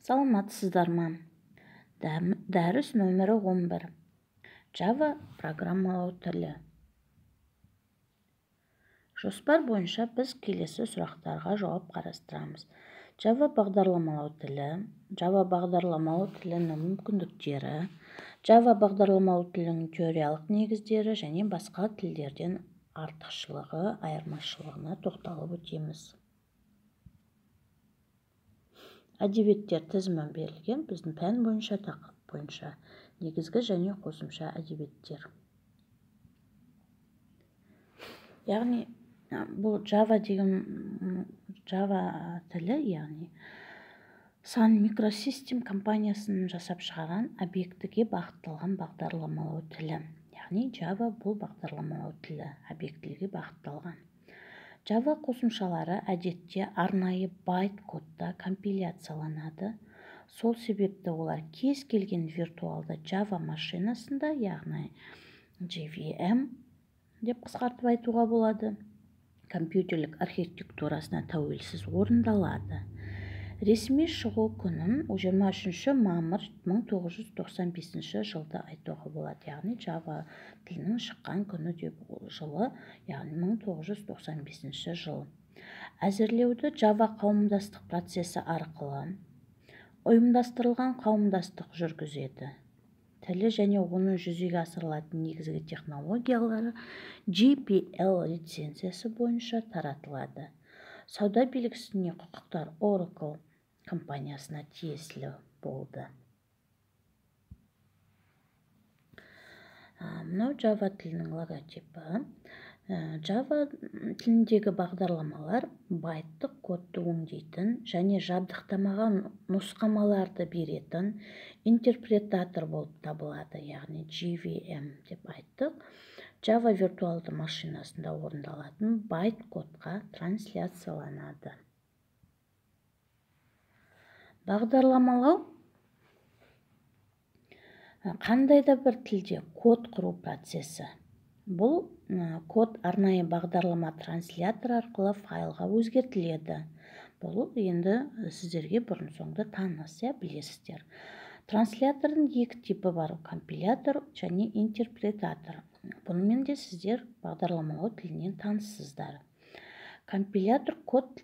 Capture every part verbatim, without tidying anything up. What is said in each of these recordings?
Саламатсыздар ма? Дәріс нөмірі он бір. Java программалау тілі. Жоспар бойынша біз келесі сұрақтарға жауап қарастырамыз. Java бағдарламалау тілі, Java бағдарламалау тілінің мүмкіндіктері, Java бағдарламалау тілінің теориялық негіздері және басқа тілдерден артықшылығы, айырмашылығына тоқталып өтеміз. Әдебиеттер тізімі берілген, біздің пән бойынша, тақырып бойынша негізгі және қосымша әдебиеттер. Яғни бұл Java деген Java тілі, яғни Sun Microsystem компаниясының жасап шығарған объектіге бағытталған бағдарламалау тілі. Яғни Java бұл бағдарламалау тілі, объектіге бағытталған. Java қосымшалары әдетте арнайы байт кодта компиляцияланады. Сол себепті олар кез келген виртуалды Java машинасында, яғни джей ви эм деп қысқартып айтуға болады, компьютерлік архитектурасына тәуелсіз орындалады. Ресми шығу күнін жиырма үшінші мамыр мың тоғыз жүз тоқсан бесінші жылды айтуға болады. Яғни Java тілінің шыққан күні деп жылы, яғни мың тоғыз жүз тоқсан бесінші жыл. Әзірлеуді Java қауымдастық процесі арқылы ұйымдастырылған қауымдастық жүргізеді. Тілі және оның жүзеге асырылатын негізгі технологиялары джей пи эл лицензиясы бойынша таратылады. Сауда белгісіне құқықтар Oracle компаниясына тиесілі болды. Мынау Java тілінің логотипі. Java тіліндегі бағдарламалар байттық кодты өңдейтін және жабдықтамаған нұсқамаларды беретін интерпретатор болып табылады, яғни джей ви эм деп айттық. Java виртуалды машинасында орындалатын байт кодқа трансляцияланады. Бағдарламалау қандай да бір тілде код құру процесі. Бұл код арнайы бағдарлама транслятор арқылы файлға өзгертіледі. Бұл енді сіздерге бұрын соңды таныс, білесіздер. Транслятордың екі типі бар: компилятор және интерпретатор. Бұнымен де сіздер бағдарламалау тілінен таныссыздар. Компилятор код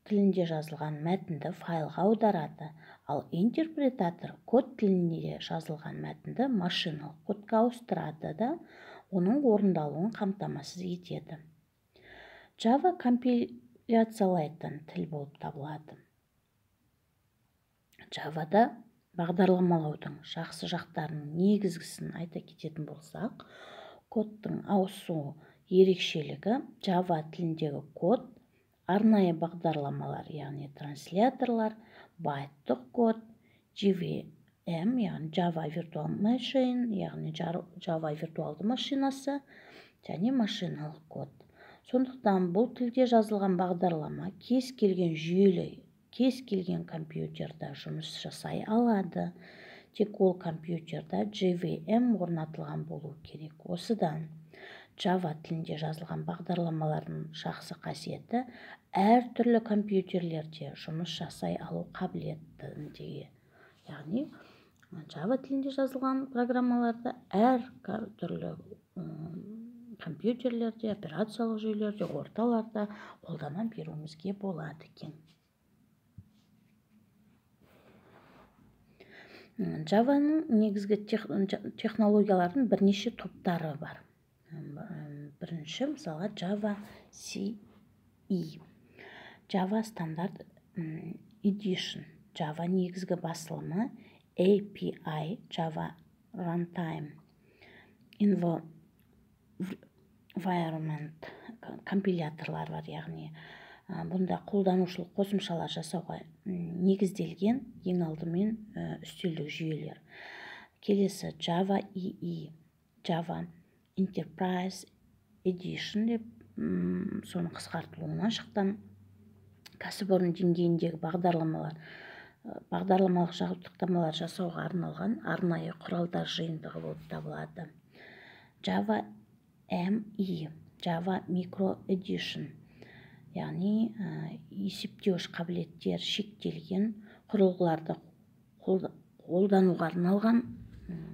тілінде жазылған мәтінді файлға аударады, ал интерпретатор код тілінде жазылған мәтінді машиналық кодқа ауыстырады да оның орындалуын қамтамасыз етеді. Java компиляциялайтын тіл болып табылады. Java'да бағдарламалаудың жақсы жақтарының негізгісін айта кететін болсақ, кодтың ауысу ерекшелігі: Java тіліндегі код арнайы бағдарламалар, яғни трансляторлар, байттық код, джей ви эм, яғни Java Virtual Machine, яғни Java виртуалды машинасы және машиналық код. Сондықтан бұл тілде жазылған бағдарлама кез келген жүйелі, кез келген компьютерда жұмыс жасай алады. Тек ол компьютерда джей ви эм орнатылған болу керек. Осыдан Java тілінде жазылған бағдарламалардың жақсы қасиеті әр түрлі компьютерлерде жұмыс жасай алу қабілеттілігі. Яғни Java тілінде жазылған программаларды әр түрлі компьютерлерде, операциялық жүйелерде, орталарда қолдана беруімізге болады екен. Javaның негізгі технологиялардың бірнеше топтары бар. Бірінші, мысалы, Java си и, Java стандарт Edition, Java негізгі басылымы, эй пи ай, Java Runtime Environment компиляторлар бар, яғни бұнда қолданушылық қосымшалар жасауға негізделген ең алдымен үстелдік жүйелер. Келесі Java и и, Java Enterprise Edition деп соның қысқартылуынан шыққан кәсіпорын деңгейіндегі бағдарламалар, бағдарламалық жабдықтамалар жасауға арналған арнайы құралдар жиынтығы болып табылады. Java эм и, Java Micro Edition, яғни есептеуіш қабілеттер шектелген құрылғыларды қолдануға арналған,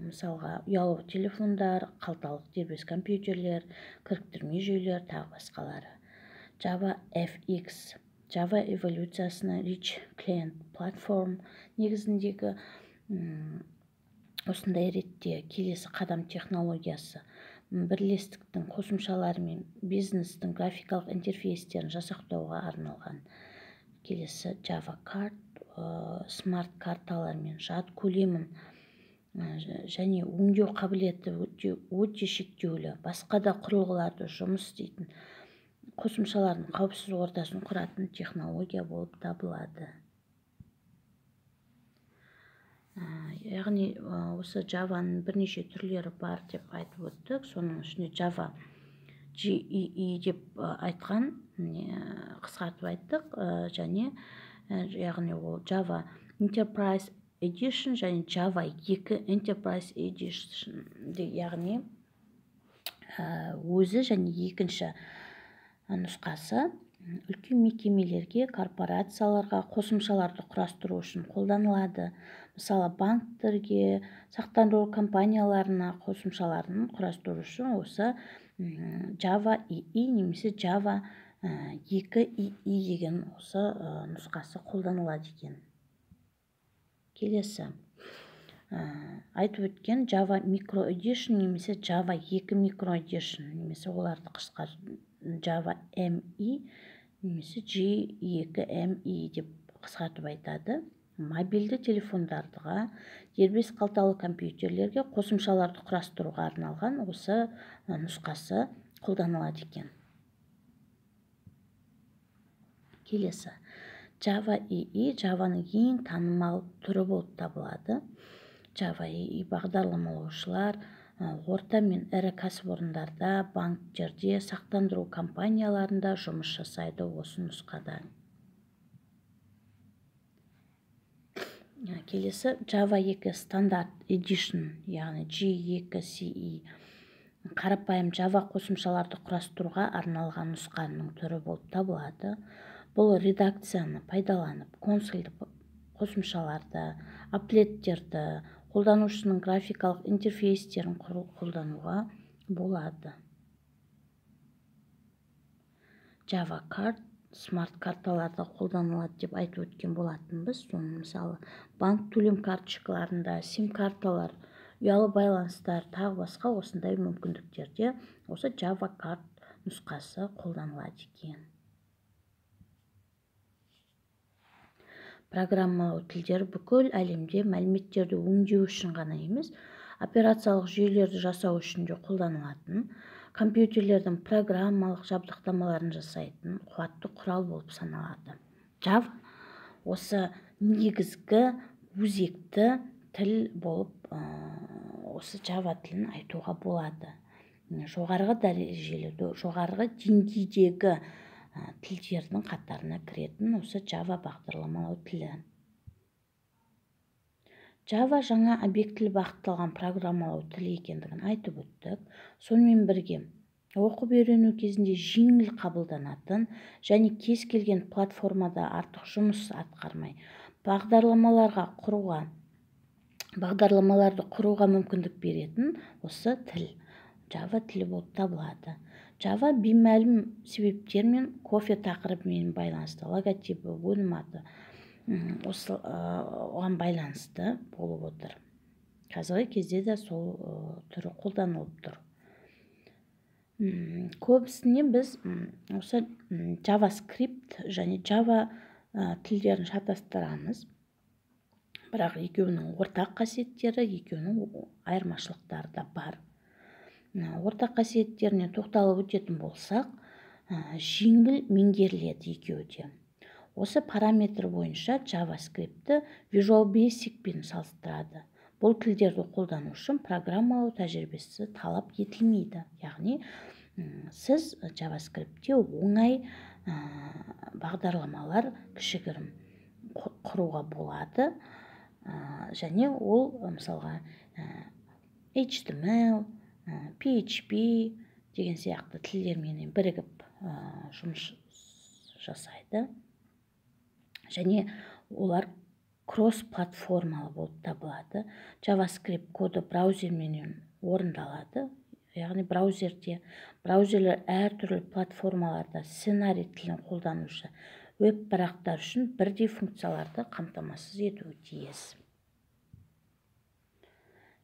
мысалға ұялы телефондар, қалталық дербес компьютерлер, кіріктірме жүйелер тағы басқалары. Java эф икс Java эволюциясына Rich Client Platform негізіндегі осындай ретте келесі қадам технологиясы бірлестіктің қосымшалары мен бизнестің графикалық интерфейстерін жасақтауға арналған. Келесі Java Card смарт карталар мен жад көлемін және өңдеу қабілеті өте шектеулі басқа да құрылғыларды жұмыс істейтін қосымшалардың қауіпсіз ортасын құратын технология болып табылады. Яғни осы Java-ның бірнеше түрлері бар деп айтып өттік. Соның ішінде Java джи и и деп айтқан, қысқартып айттық, және яғни ол Java Enterprise Edition және Java екі Enterprise Edition, яғни өзі және екінші нұсқасы үлкен мекемелерге, корпорацияларға қосымшаларды құрастыру үшін қолданылады. Мысалы, банктерге, сақтандыру компанияларына қосымшаларын құрастыру үшін осы Java и и немесе Java екі и и деген осы нұсқасы қолданылады екен. Келесі айтып өткен Java Micro Edition немесе Java екі Micro Edition, немесе оларды қысқартып Java эм и немесе джи екі эм и деп қысқартып айтады. Мобильді телефондарға, дербес қалталы компьютерлерге қосымшаларды құрастыруға арналған осы нұсқасы қолданылады екен. Келесі Java и и Java-ның ең танымал түрі болып табылады. Java и и бағдарламалаушылар орта мен ірі кәсіпорындарда, банктерде, сақтандыру компанияларында жұмыс жасайды осы нұсқада. Келесі Java екі стандарт Edition, яғни джи екі си и, қарапайым Java қосымшаларды құрастыруға арналған нұсқаның түрі болып табылады. Бұл редакцияны пайдаланып, консольді қосымшаларды, аплеттерді, қолданушының графикалық интерфейстерін қолдануға болады. Java Card смарт карталарда қолданылады деп айтып өткен болатынбыз. Соның мысалы банк төлем карточкаларында, сим карталар, ұялы байланыстар, тағы басқа осындай мүмкіндіктерде осы Java Card нұсқасы қолданылады екен. Программалау тілдері бүкіл әлемде мәліметтерді өңдеу үшін ғана емес, операциялық жүйелерді жасау үшін де қолданылатын, компьютерлердің программалық жабдықтамаларын жасайтын қуатты құрал болып саналады. Java осы негізгі өзекті тіл болып осы Java тілін айтуға болады. Жоғарғы дәрежелі, жоғарғы деңгейдегі тілдердің қатарына кіретін осы Java бағдарламалау тілі. Java жаңа объектілі бағытталған программалау тілі екендігін айтып өттік. Сонымен бірге оқып үйрену кезінде жеңіл қабылданатын және кез келген платформада артық жұмыс атқармай бағдарламаларға құруға, бағдарламаларды құруға мүмкіндік беретін осы тіл Java тілі болып табылады. Java беймәлім себептермен кофе тақырыбымен байланысты, логотипі, өнім аты оған байланысты болып отыр. Қазіргі кезде де сол түрі қолданылып тұр. Көбісіне біз осы JavaScript және Java тілдерін шатастырамыз. Бірақ екеуінің ортақ қасиеттері, екеуінің айырмашылықтары да бар. Ортақ қасиеттеріне тоқталып өтетін болсақ, жеңіл меңгеріледі екеуі де. Осы параметр бойынша JavaScript-ті Visual Basic-пен салыстырады. Бұл тілдерді қолдану үшін программалау тәжірибесі талап етілмейді. Яғни, сіз JavaScript-те оңай бағдарламалар кішігірім құруға болады. Және ол, мысалға, эйч ти эм эл, пи эйч пи деген сияқты тілдермен бірігіп жұмыс жасайды. Және олар кросс-платформалы болып табылады. JavaScript коды браузермен орындалады. Яғни браузерде браузерлер әртүрлі платформаларда сценарий тілін қолданушы веб-парақтар үшін бірдей функцияларды қамтамасыз етуі тиіс.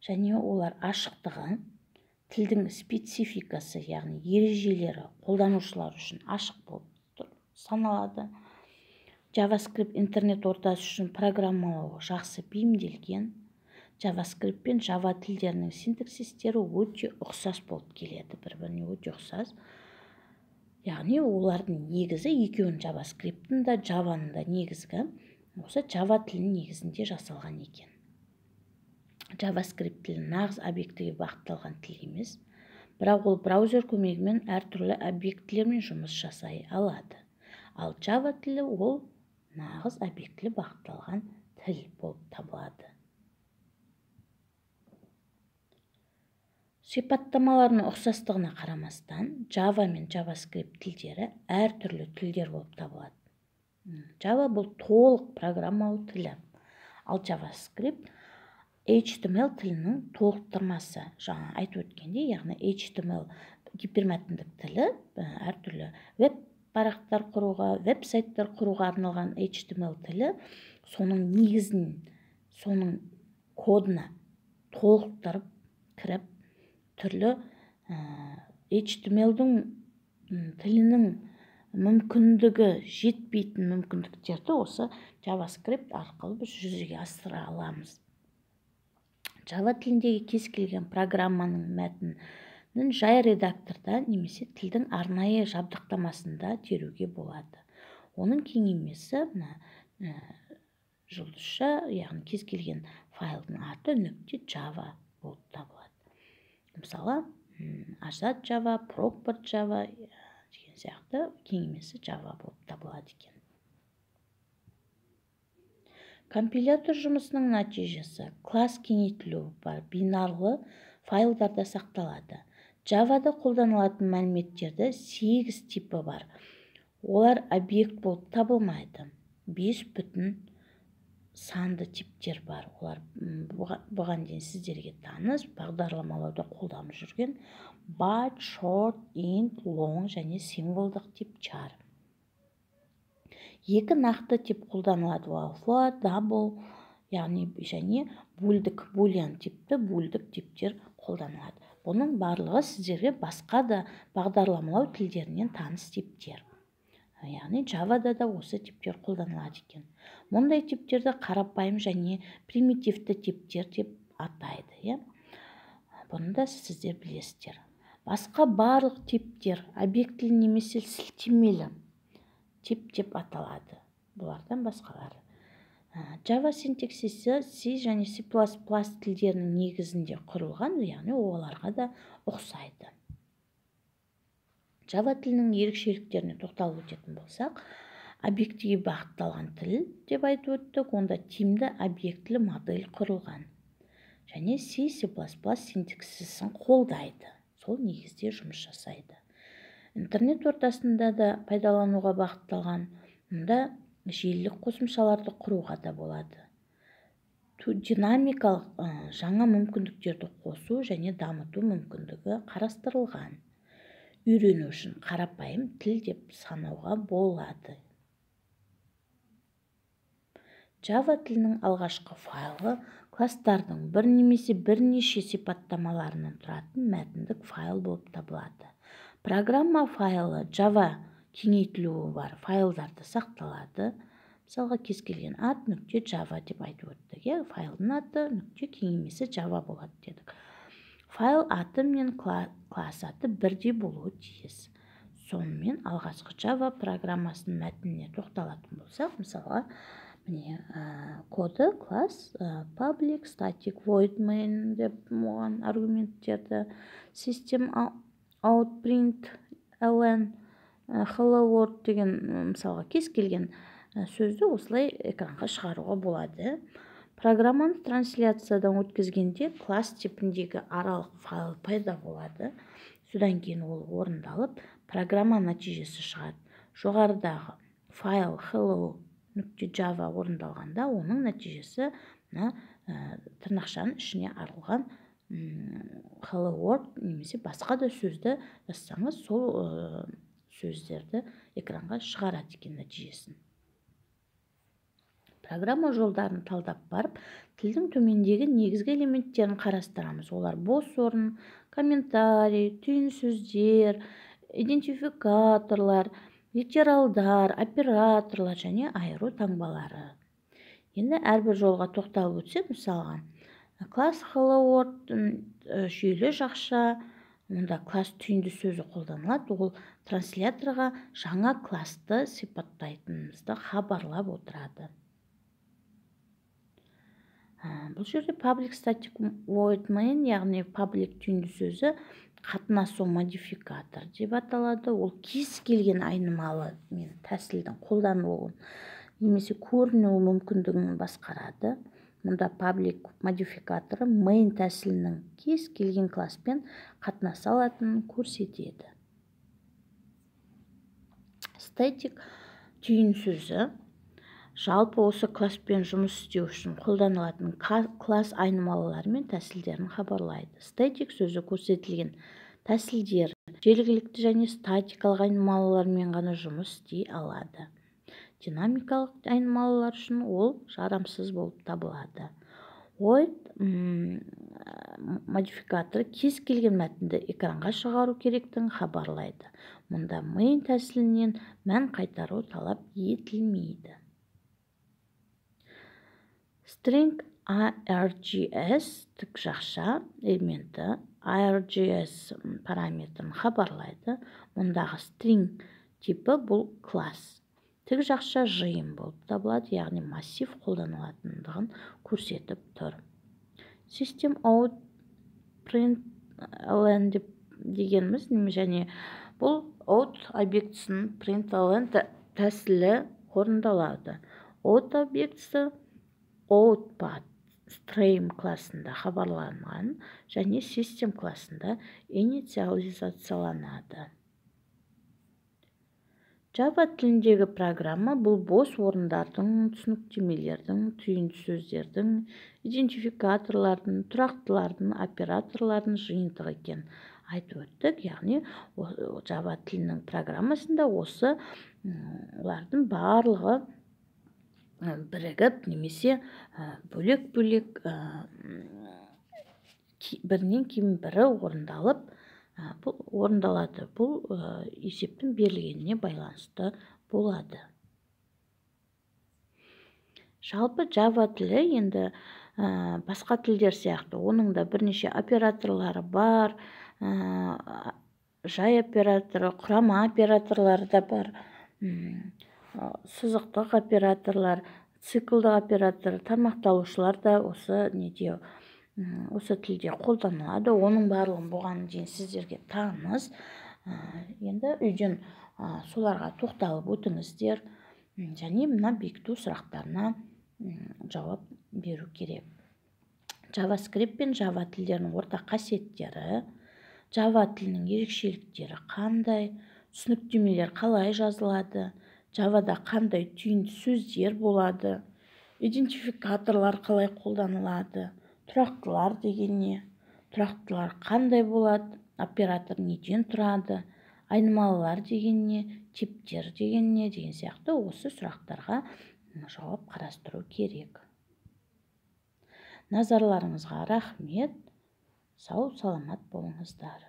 Және олар ашықтығы, тілдің спецификасы, яғни ережелері қолданушылар үшін ашық болып саналады. JavaScript интернет ортасы үшін программалауға жақсы бейімделген. JavaScript пен Java тілдерінің синтаксистері өте ұқсас болып келеді, бір-біріне өте ұқсас. Яғни олардың негізі екеуін JavaScript-ың да, Java-ның да негізгі осы Java тілінің негізінде жасалған екен. JavaScript тілі нағыз объектіге бағытталған тіл емес, бірақ ол браузер көмегімен әртүрлі объектілермен жұмыс жасай алады. Ал Java тілі ол нағыз объектілі бағытталған тіл болып табылады. Сипаттамаларының ұқсастығына қарамастан, Java мен JavaScript тілдері әртүрлі тілдер болып табылады. Java бұл толық программалау тілі, ал JavaScript эйч ти эм эл тілінің толықтырмасы. Жаңа айтып өткенде, яғни эйч ти эм эл гипермәтіндік тілі әртүрлі веб-парақтар құруға, веб-сайттар құруға арналған эйч ти эм эл тілі соның негізін, соның кодына толықтырып кіріп, түрлі эйч ти эм эл-дің тілінің мүмкіндігі жетпейтін мүмкіндіктерді осы JavaScript арқылы біз жүзеге асыра аламыз. Java тіліндегі кез келген программаның мәтінін жай редакторда немесе тілдің арнайы жабдықтамасында теруге болады. Оның кеңеймесі жұлдызша, яғни кез келген файлдың аты нүкте Java болып табылады. Мысалы, Azad Java, Proper Java деген сияқты кеңеймесі Java болып табылады екен. Компилятор жұмысының нәтижесі класс кеңейтілуі бар бинарлы файлдарда сақталады. Java-да қолданылатын мәліметтерді сегіз типі бар. Олар объект болып табылмайды. бес бүтін санды типтер бар. Олар бұған дейін сіздерге таныс бағдарламалауда қолданып жүрген byte, short, int, long және символдық тип char. Екі нақты тип қолданылады, float, double, яғни және бөлдік, boolean типті бөлдік типтер қолданылады. Бұның барлығы сіздерге басқа да бағдарламалау тілдерінен таныс типтер. Яғни Java-да да осы типтер қолданылады екен. Мұндай типтерді қарапайым және примитивті типтер деп атайды. Бұны да сіздер білесіздер. Басқа барлық типтер объектілі немесе сілтемелі тип деп аталады. Бұлардан басқалары. Java синтаксисі C және C++ тілдерінің негізінде құрылған, яғни оларға да ұқсайды. Java тілінің ерекшеліктеріне тоқталып өтетін болсақ, объектіге бағытталған тіл деп айтып өттік, онда тиімді объектілі модель құрылған. Және C, C++ синтаксисін қолдайды. Сол негізде жұмыс жасайды. Интернет ортасында да пайдалануға бағытталған, мұнда желілік қосымшаларды құруға да болады. Динамикалық жаңа мүмкіндіктерді қосу және дамыту мүмкіндігі қарастырылған. Үйрену үшін қарапайым тіл деп санауға болады. Java тілінің алғашқы файлы кластардың бір немесе бірнеше сипаттамаларынан тұратын мәтіндік файл болып табылады. Программа файлы Java кеңейтілуі бар файлдарды сақталады. Мысалға, кез келген ат нүкте Java деп айтып өттік. Файлдың аты нүкте кеңеймесі Java болады дедік. Файл аты мен класс аты бірдей болуы тиіс. Сонымен алғашқы Java программасының мәтініне тоқталатын болсақ, мысалға, міне коды класс public static void main деп оған аргументтерді system out print ln hello world деген мысалға кез келген сөзді осылай экранға шығаруға болады. Программаны трансляциядан өткізгенде класс типіндегі аралық файл пайда болады. Содан кейін ол орындалып, программа нәтижесі шығады. Жоғарыдағы файл hello нүкте java орындалғанда оның нәтижесі мына тырнақшаның ішіне арылған hello world немесе басқа да сөзді жазсаңыз сол сөздерді экранға шығарады екен нәтижесін. Программа жолдарын талдап барып, тілдің төмендегі негізгі элементтерін қарастырамыз. Олар бос орын, комментарий, түйін сөздер, идентификаторлар, литералдар, операторлар және айыру таңбалары. Енді әрбір жолға тоқталып өтсек, мысалға, класс hello world жүйелі жақша, онда класс түйінді сөзі қолданылады, ол трансляторға жаңа классты сипаттайтынымызды хабарлап отырады. Бұл жерде public static void main, яғни public түйінді сөзі қатынасу модификатор деп аталады. Ол кез келген айнымалы мен тәсілдің қолданылуын немесе көрінуі мүмкіндігін басқарады. Мұнда public модификаторы main тәсілінің кез келген класспен қатынаса алатынын көрсетеді. Static түйін сөзі жалпы осы класспен жұмыс істеу үшін қолданылатын класс айнымалылары мен тәсілдерін хабарлайды. Static сөзі көрсетілген тәсілдер желілікті және статикалық айнымалылармен ғана жұмыс істей алады. Динамикалық айнымалылар үшін ол жарамсыз болып табылады. Void модификаторы кез келген мәтінді экранға шығару керектігін хабарлайды. Мұнда main тәсілінен мән қайтару талап етілмейді. String args тік жақша элементі args параметрін хабарлайды. Мұндағы string типі бұл класс. Тік жақша жиын болып табылады, яғни массив қолданылатындығын көрсетіп тұр. System out println дегеніміз және бұл out объектісінің println тәсілі орындалады. Out объектісі output stream классында хабарланған және system классында инициализацияланады. Java тіліндегі программа бұл бос орындардың, түсініктемелердің, түйінді сөздердің, идентификаторлардың, тұрақтылардың, операторлардың жиынтығы екен айтып өттік. Яғни Java тілінің программасында осы олардың барлығы бірігіп немесе бөлек-бөлек бірінен кейін бірі орындалып орындалады. Бұл есептің берілгеніне байланысты болады. Жалпы Java тілі енді басқа тілдер сияқты, оның да бірнеше операторлары бар, жай операторы, құрама операторлары да бар, сызықтық операторлар, циклдық оператор, тармақталушылар да осы неде осы тілде қолданылады. Оның барлығын бұған дейін сіздерге таныс. Енді үйден соларға тоқталып өтіңіздер және мына бекіту сұрақтарына жауап беру керек. JavaScript пен Java тілдерінің ортақ қасиеттері, Java тілінің ерекшеліктері қандай, түсініктемелер қалай жазылады, Java'да қандай түйінді сөздер болады, идентификаторлар қалай қолданылады, тұрақтылар деген не, тұрақтылар қандай болады, оператор неден тұрады, айнымалылар деген не, типтер деген не деген сияқты осы сұрақтарға жауап қарастыру керек. Назарларыңызға рахмет. Сау саламат болыңыздар.